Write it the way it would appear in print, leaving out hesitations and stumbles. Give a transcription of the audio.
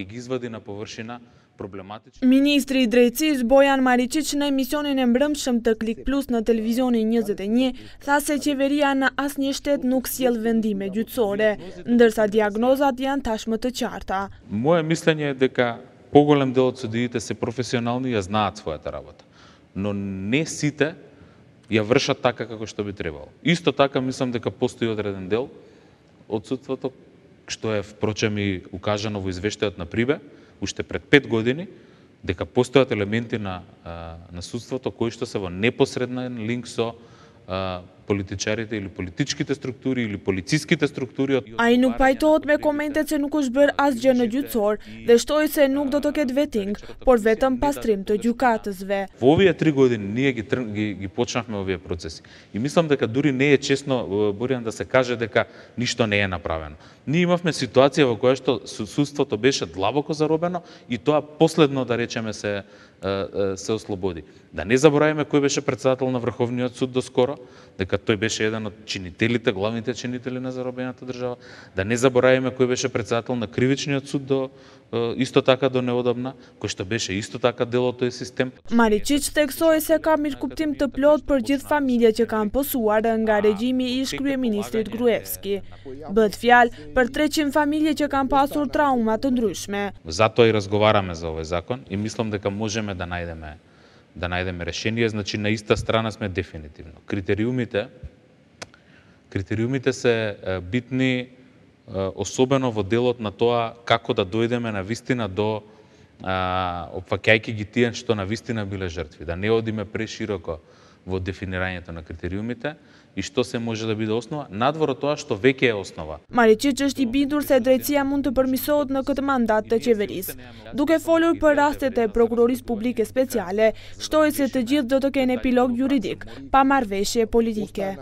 ќе ги извади на површина проблематични. Министри и дрejtësisë Bojan Maričić në emisionin e mbrëmshëm të Klik Plus në televizionin 21 tha se qeveria në asnjë shtet nuk sjell vendime gjyqësore, ndërsa diagnozat janë tashmë të qarta. Моје мислење е дека поголем дел од судиите се професионални и ја знаат својата работа, но не сите ја вршат така како што би требало. Исто така мислам дека постои одреден дел од судството, што е впрочем и укажано во извештајот на Прибе, уште пред 5 години, дека постојат елементи на судството кои што се во непосреден линк со политичарите или политичките структури или полициските структури. Ai nuk pajtohet me komentet se nuk është bërë asgjë në gjyqësor dhe shtoi se nuk do të ketë vetting, por vetëm pastrim të gjykatësve. Во овие 3 години ние ги почнавме овие процеси. И мислам дека дури не е честно, Боријан, да се каже дека ништо не е направено. Ние имавме ситуација во која што судството беше длабоко заробено и тоа последно, да речеме, се ослободи. Да не забораваме кој беше председател на Врховниот суд доскоро, дека тој беше еден од чинителите, главните чинители на заробената држава. Да не забораваме кој беше председател на Кривичниот суд исто така до неодамна, кој што беше исто така дел од тој систем. Maričić theksoi se ka mirëkuptim të plot për gjithë familjet që kanë posuar nga regjimi i ish-kryeministrit Gruevski. Bëhet fjalë për 300 familje që kanë pasur trauma të ndryshme. Затоа и разговараме за овој закон и мислам дека можеме да најдеме решение, значи на иста страна сме дефинитивно. Критериумите се битни, особено во делот на тоа како да дојдеме на вистина до опфаќајќи ги тие што на вистина биле жртви, да не одиме прешироко во дефинирањето на критериумите и што се може да биде основа, надвор од тоа што веќе е основа. Maričić është I bindur se drejtësia mund të përmirësohet në këtë mandat të qeverisë. Duke folur për rastet e prokurorisë publike speciale, shtoi se të gjithë do të kenë epilog juridik, pa marrëveshje politike.